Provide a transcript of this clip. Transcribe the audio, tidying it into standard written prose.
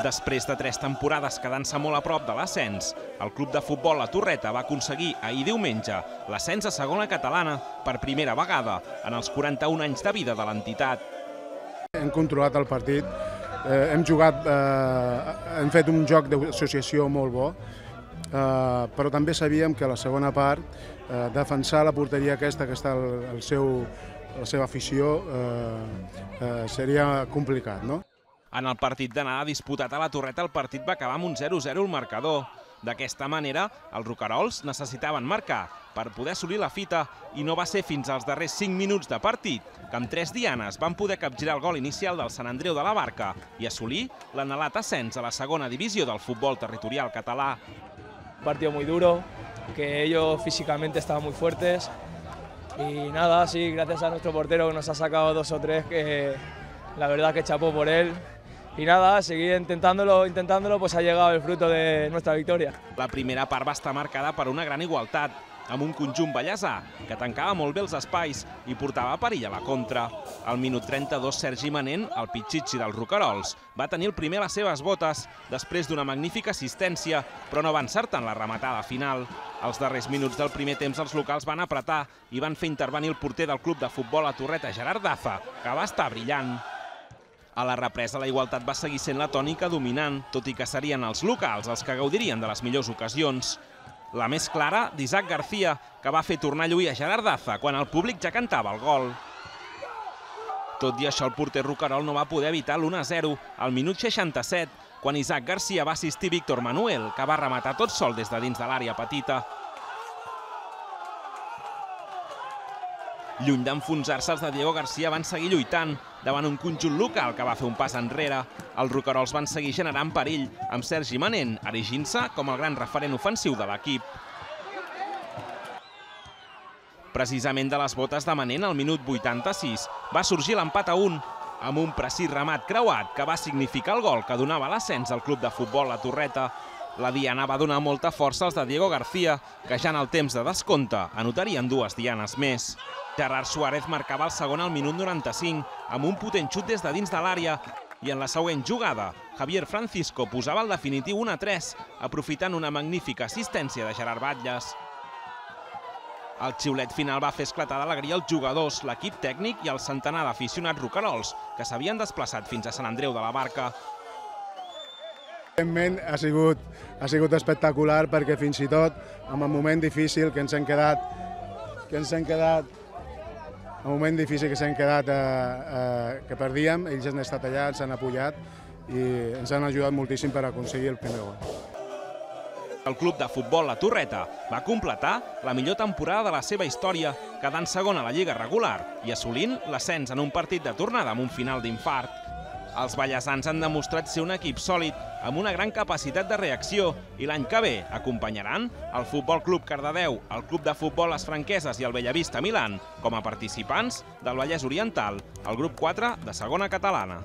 Després de 3 temporades quedant-se molt a prop de l'ascens, el club de futbol La Torreta va aconseguir ahir diumenge l'ascens a segona catalana per primera vegada en els 41 anys de vida de l'entitat. Hem controlat el partit, hem fet un joc d'associació molt bo, però també sabíem que a la segona part defensar la porteria aquesta que està la seva afició seria complicat, no? En el partit d'anada disputat a La Torreta el partit va acabar amb un 0-0 al marcador. D'aquesta manera, els roquerols necessitaven marcar per poder assolir la fita i no va ser fins als darrers 5 minuts de partit que amb 3 dianes van poder capgirar el gol inicial del Sant Andreu de la Barca i assolir l'anhelat ascens a la segona divisió del futbol territorial català. Un partido muy duro, que ellos físicamente estaban muy fuertes y nada, sí, gracias a nuestro portero que nos ha sacado 2 o 3, que la verdad que chapó por él. Y nada, seguir intentándolo, pues ha llegado el fruto de nuestra victoria. La primera part va estar marcada per una gran igualtat, amb un conjunt ballesà que tancava molt bé els espais i portava perill a la contra. Al minut 32, Sergi Manent, el pitxitxi dels roquerols, va tenir el primer a les seves botes després d'una magnífica assistència, però no va encertar en la rematada final. Als darrers minuts del primer temps els locals van apretar i van fer intervenir el porter del club de futbol La Torreta, Gerard Daza, que va estar brillant. A la represa la igualtat va seguir sent la tònica dominant, tot i que serien els locals els que gaudirien de les millors ocasions. La més clara d'Isaac García, que va fer tornar a lluir a Gerard Daza quan el públic ja cantava el gol. Tot i això, el porter roquerol no va poder evitar l'1-0 al minut 67, quan Isaac García va assistir Víctor Manuel, que va rematar tot sol des de dins de l'àrea petita. Lluny d'enfonsar-se, els de Diego García van seguir lluitant davant un conjunt local que va fer un pas enrere. Els roquerols van seguir generant perill, amb Sergi Manent erigint-se com el gran referent ofensiu de l'equip. Precisament de les botes de Manent, al minut 86, va sorgir l'empat a 1, amb un precís remat creuat que va significar el gol que donava l'ascens al club de futbol La Torreta. La diana va donar molta força als de Diego García, que ja en el temps de descompte anotarien 2 dianes més. Gerard Suárez marcava el segon al minut 95 amb un potent xut des de dins de l'àrea i en la següent jugada Javier Francisco posava el definitiu 1-3 aprofitant una magnífica assistència de Gerard Batlles. El xiulet final va fer esclatar d'alegria els jugadors, l'equip tècnic i el centenar d'aficionats roquerols que s'havien desplaçat fins a Sant Andreu de la Barca. Evidentment ha sigut espectacular perquè fins i tot en el moment difícil que ens hem quedat que perdíem, ells han estat allà, ens han apoyat i ens han ajudat moltíssim per aconseguir el primer gol. El club de futbol La Torreta va completar la millor temporada de la seva història, quedant segon a la Lliga regular i assolint l'ascens en un partit de tornada amb un final d'infart. Els ballesans han demostrat ser un equip sòlid, amb una gran capacitat de reacció, i l'any que ve acompanyaran el Futbol Club Cardedeu, el Club de Futbol Les Franqueses i el Bellavista Milan com a participants del Vallès Oriental, el grup 4 de segona catalana.